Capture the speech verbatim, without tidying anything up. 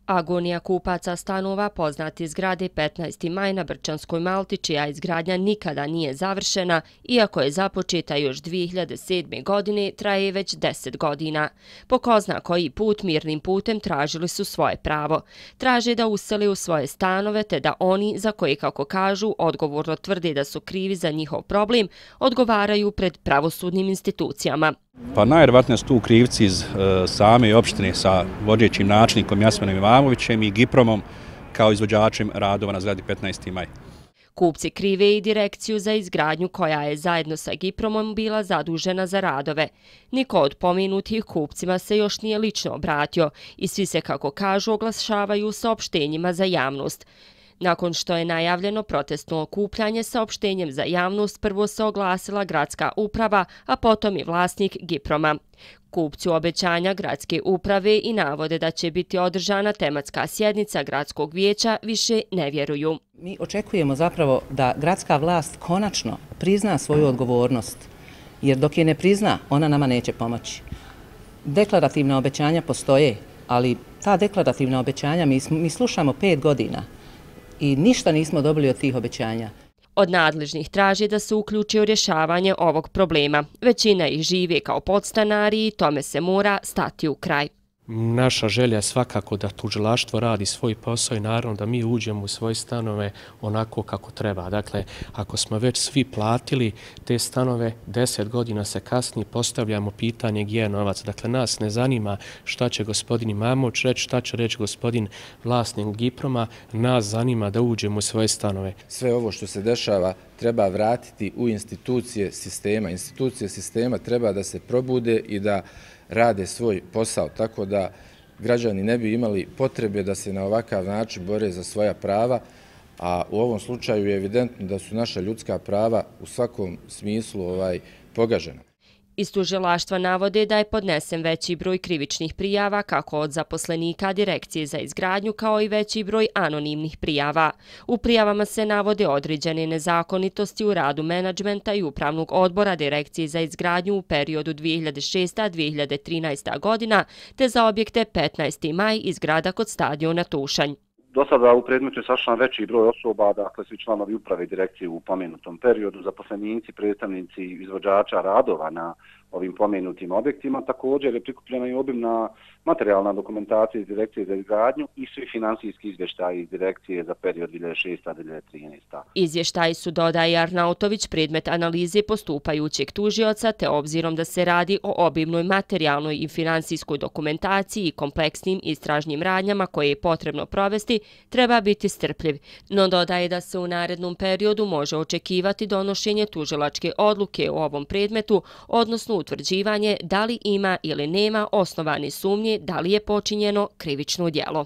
Agonija kupaca stanova poznati zgrade petnaesti maj na Brčanskoj Malti, čija izgradnja nikada nije završena, iako je započeta još dvije hiljade sedme. godine, traje već deset godina. Po ko zna koji put mirnim putem tražili su svoje pravo. Traže da usele u svoje stanove, te da oni, za koje, kako kažu, odgovorno tvrde da su krivi za njihov problem, odgovaraju pred pravosudnim institucijama. Pa najvjerojatnije su tu krivci iz e, same opštine sa vodećim načelnikom Jasminom Imamovićem i Gipromom kao izvođačem radova na zgradi petnaesti maj. Kupci krive i direkciju za izgradnju koja je zajedno sa Gipromom bila zadužena za radove. Niko od pomenutih kupcima se još nije lično obratio i svi se, kako kažu, oglašavaju saopštenjima za javnost. Nakon što je najavljeno protestno okupljanje, saopštenjem za javnost prvo se oglasila gradska uprava, a potom i vlasnik Giproma. Kupci obećanja gradske uprave i navode da će biti održana tematska sjednica gradskog vijeća više ne vjeruju. Mi očekujemo zapravo da gradska vlast konačno prizna svoju odgovornost, jer dok je ne prizna, ona nama neće pomoći. Deklarativna obećanja postoje, ali ta deklarativna obećanja mi, mi slušamo pet godina. I ništa nismo dobili od tih obećanja. Od nadležnih traži da se uključi u rješavanje ovog problema. Većina ih žive kao podstanari i tome se mora stati u kraj. Naša želja je svakako da tužilaštvo radi svoj posao i naravno da mi uđemo u svoje stanove onako kako treba. Dakle, ako smo već svi platili te stanove, deset godina se kasnije postavljamo pitanje gdje je novac. Dakle, nas ne zanima šta će gospodin Imamović reći, šta će reći gospodin vlasnik Giproma, nas zanima da uđemo u svoje stanove. Sve ovo što se dešava treba vratiti u institucije sistema. Institucije sistema treba da se probude i da rade svoj posao, tako da građani ne bi imali potrebe da se na ovakav način bore za svoja prava, a u ovom slučaju je evidentno da su naša ljudska prava u svakom smislu ovaj, pogažena. Iz tužilaštva navode da je podnesen veći broj krivičnih prijava kako od zaposlenika Direkcije za izgradnju kao i veći broj anonimnih prijava. U prijavama se navode određene nezakonitosti u radu menadžmenta i upravnog odbora Direkcije za izgradnju u periodu dvije hiljade šesta do dvije hiljade trinaeste. godina te za objekte petnaesti maj i zgrada kod stadiona Tušanj. Do sada u predmetu je sačlan veći broj osoba, dakle svi članovi uprave i direkcije u pomenutom periodu, zaposlenici, predstavnici izvođača radova na ovim pomenutim objektima. Također je prikupljena i obimna materijalna dokumentacija iz Direkcije za izgradnju i svi finansijski izvještaji iz Direkcije za period dvije hiljade šesta do dvije hiljade trinaeste. Izvještaji su, dodaje Arnautović, predmet analize postupajućeg tužioca, te obzirom da se radi o obimnoj materijalnoj i finansijskoj dokumentaciji i kompleksnim istražnim radnjama koje je potrebno provesti, treba biti strpljiv. No dodaje da se u narednom periodu može očekivati donošenje tužilačke odluke u ovom predmetu, odnosno utvrđivanje da li ima ili nema osnovane sumnje da li je počinjeno krivično djelo.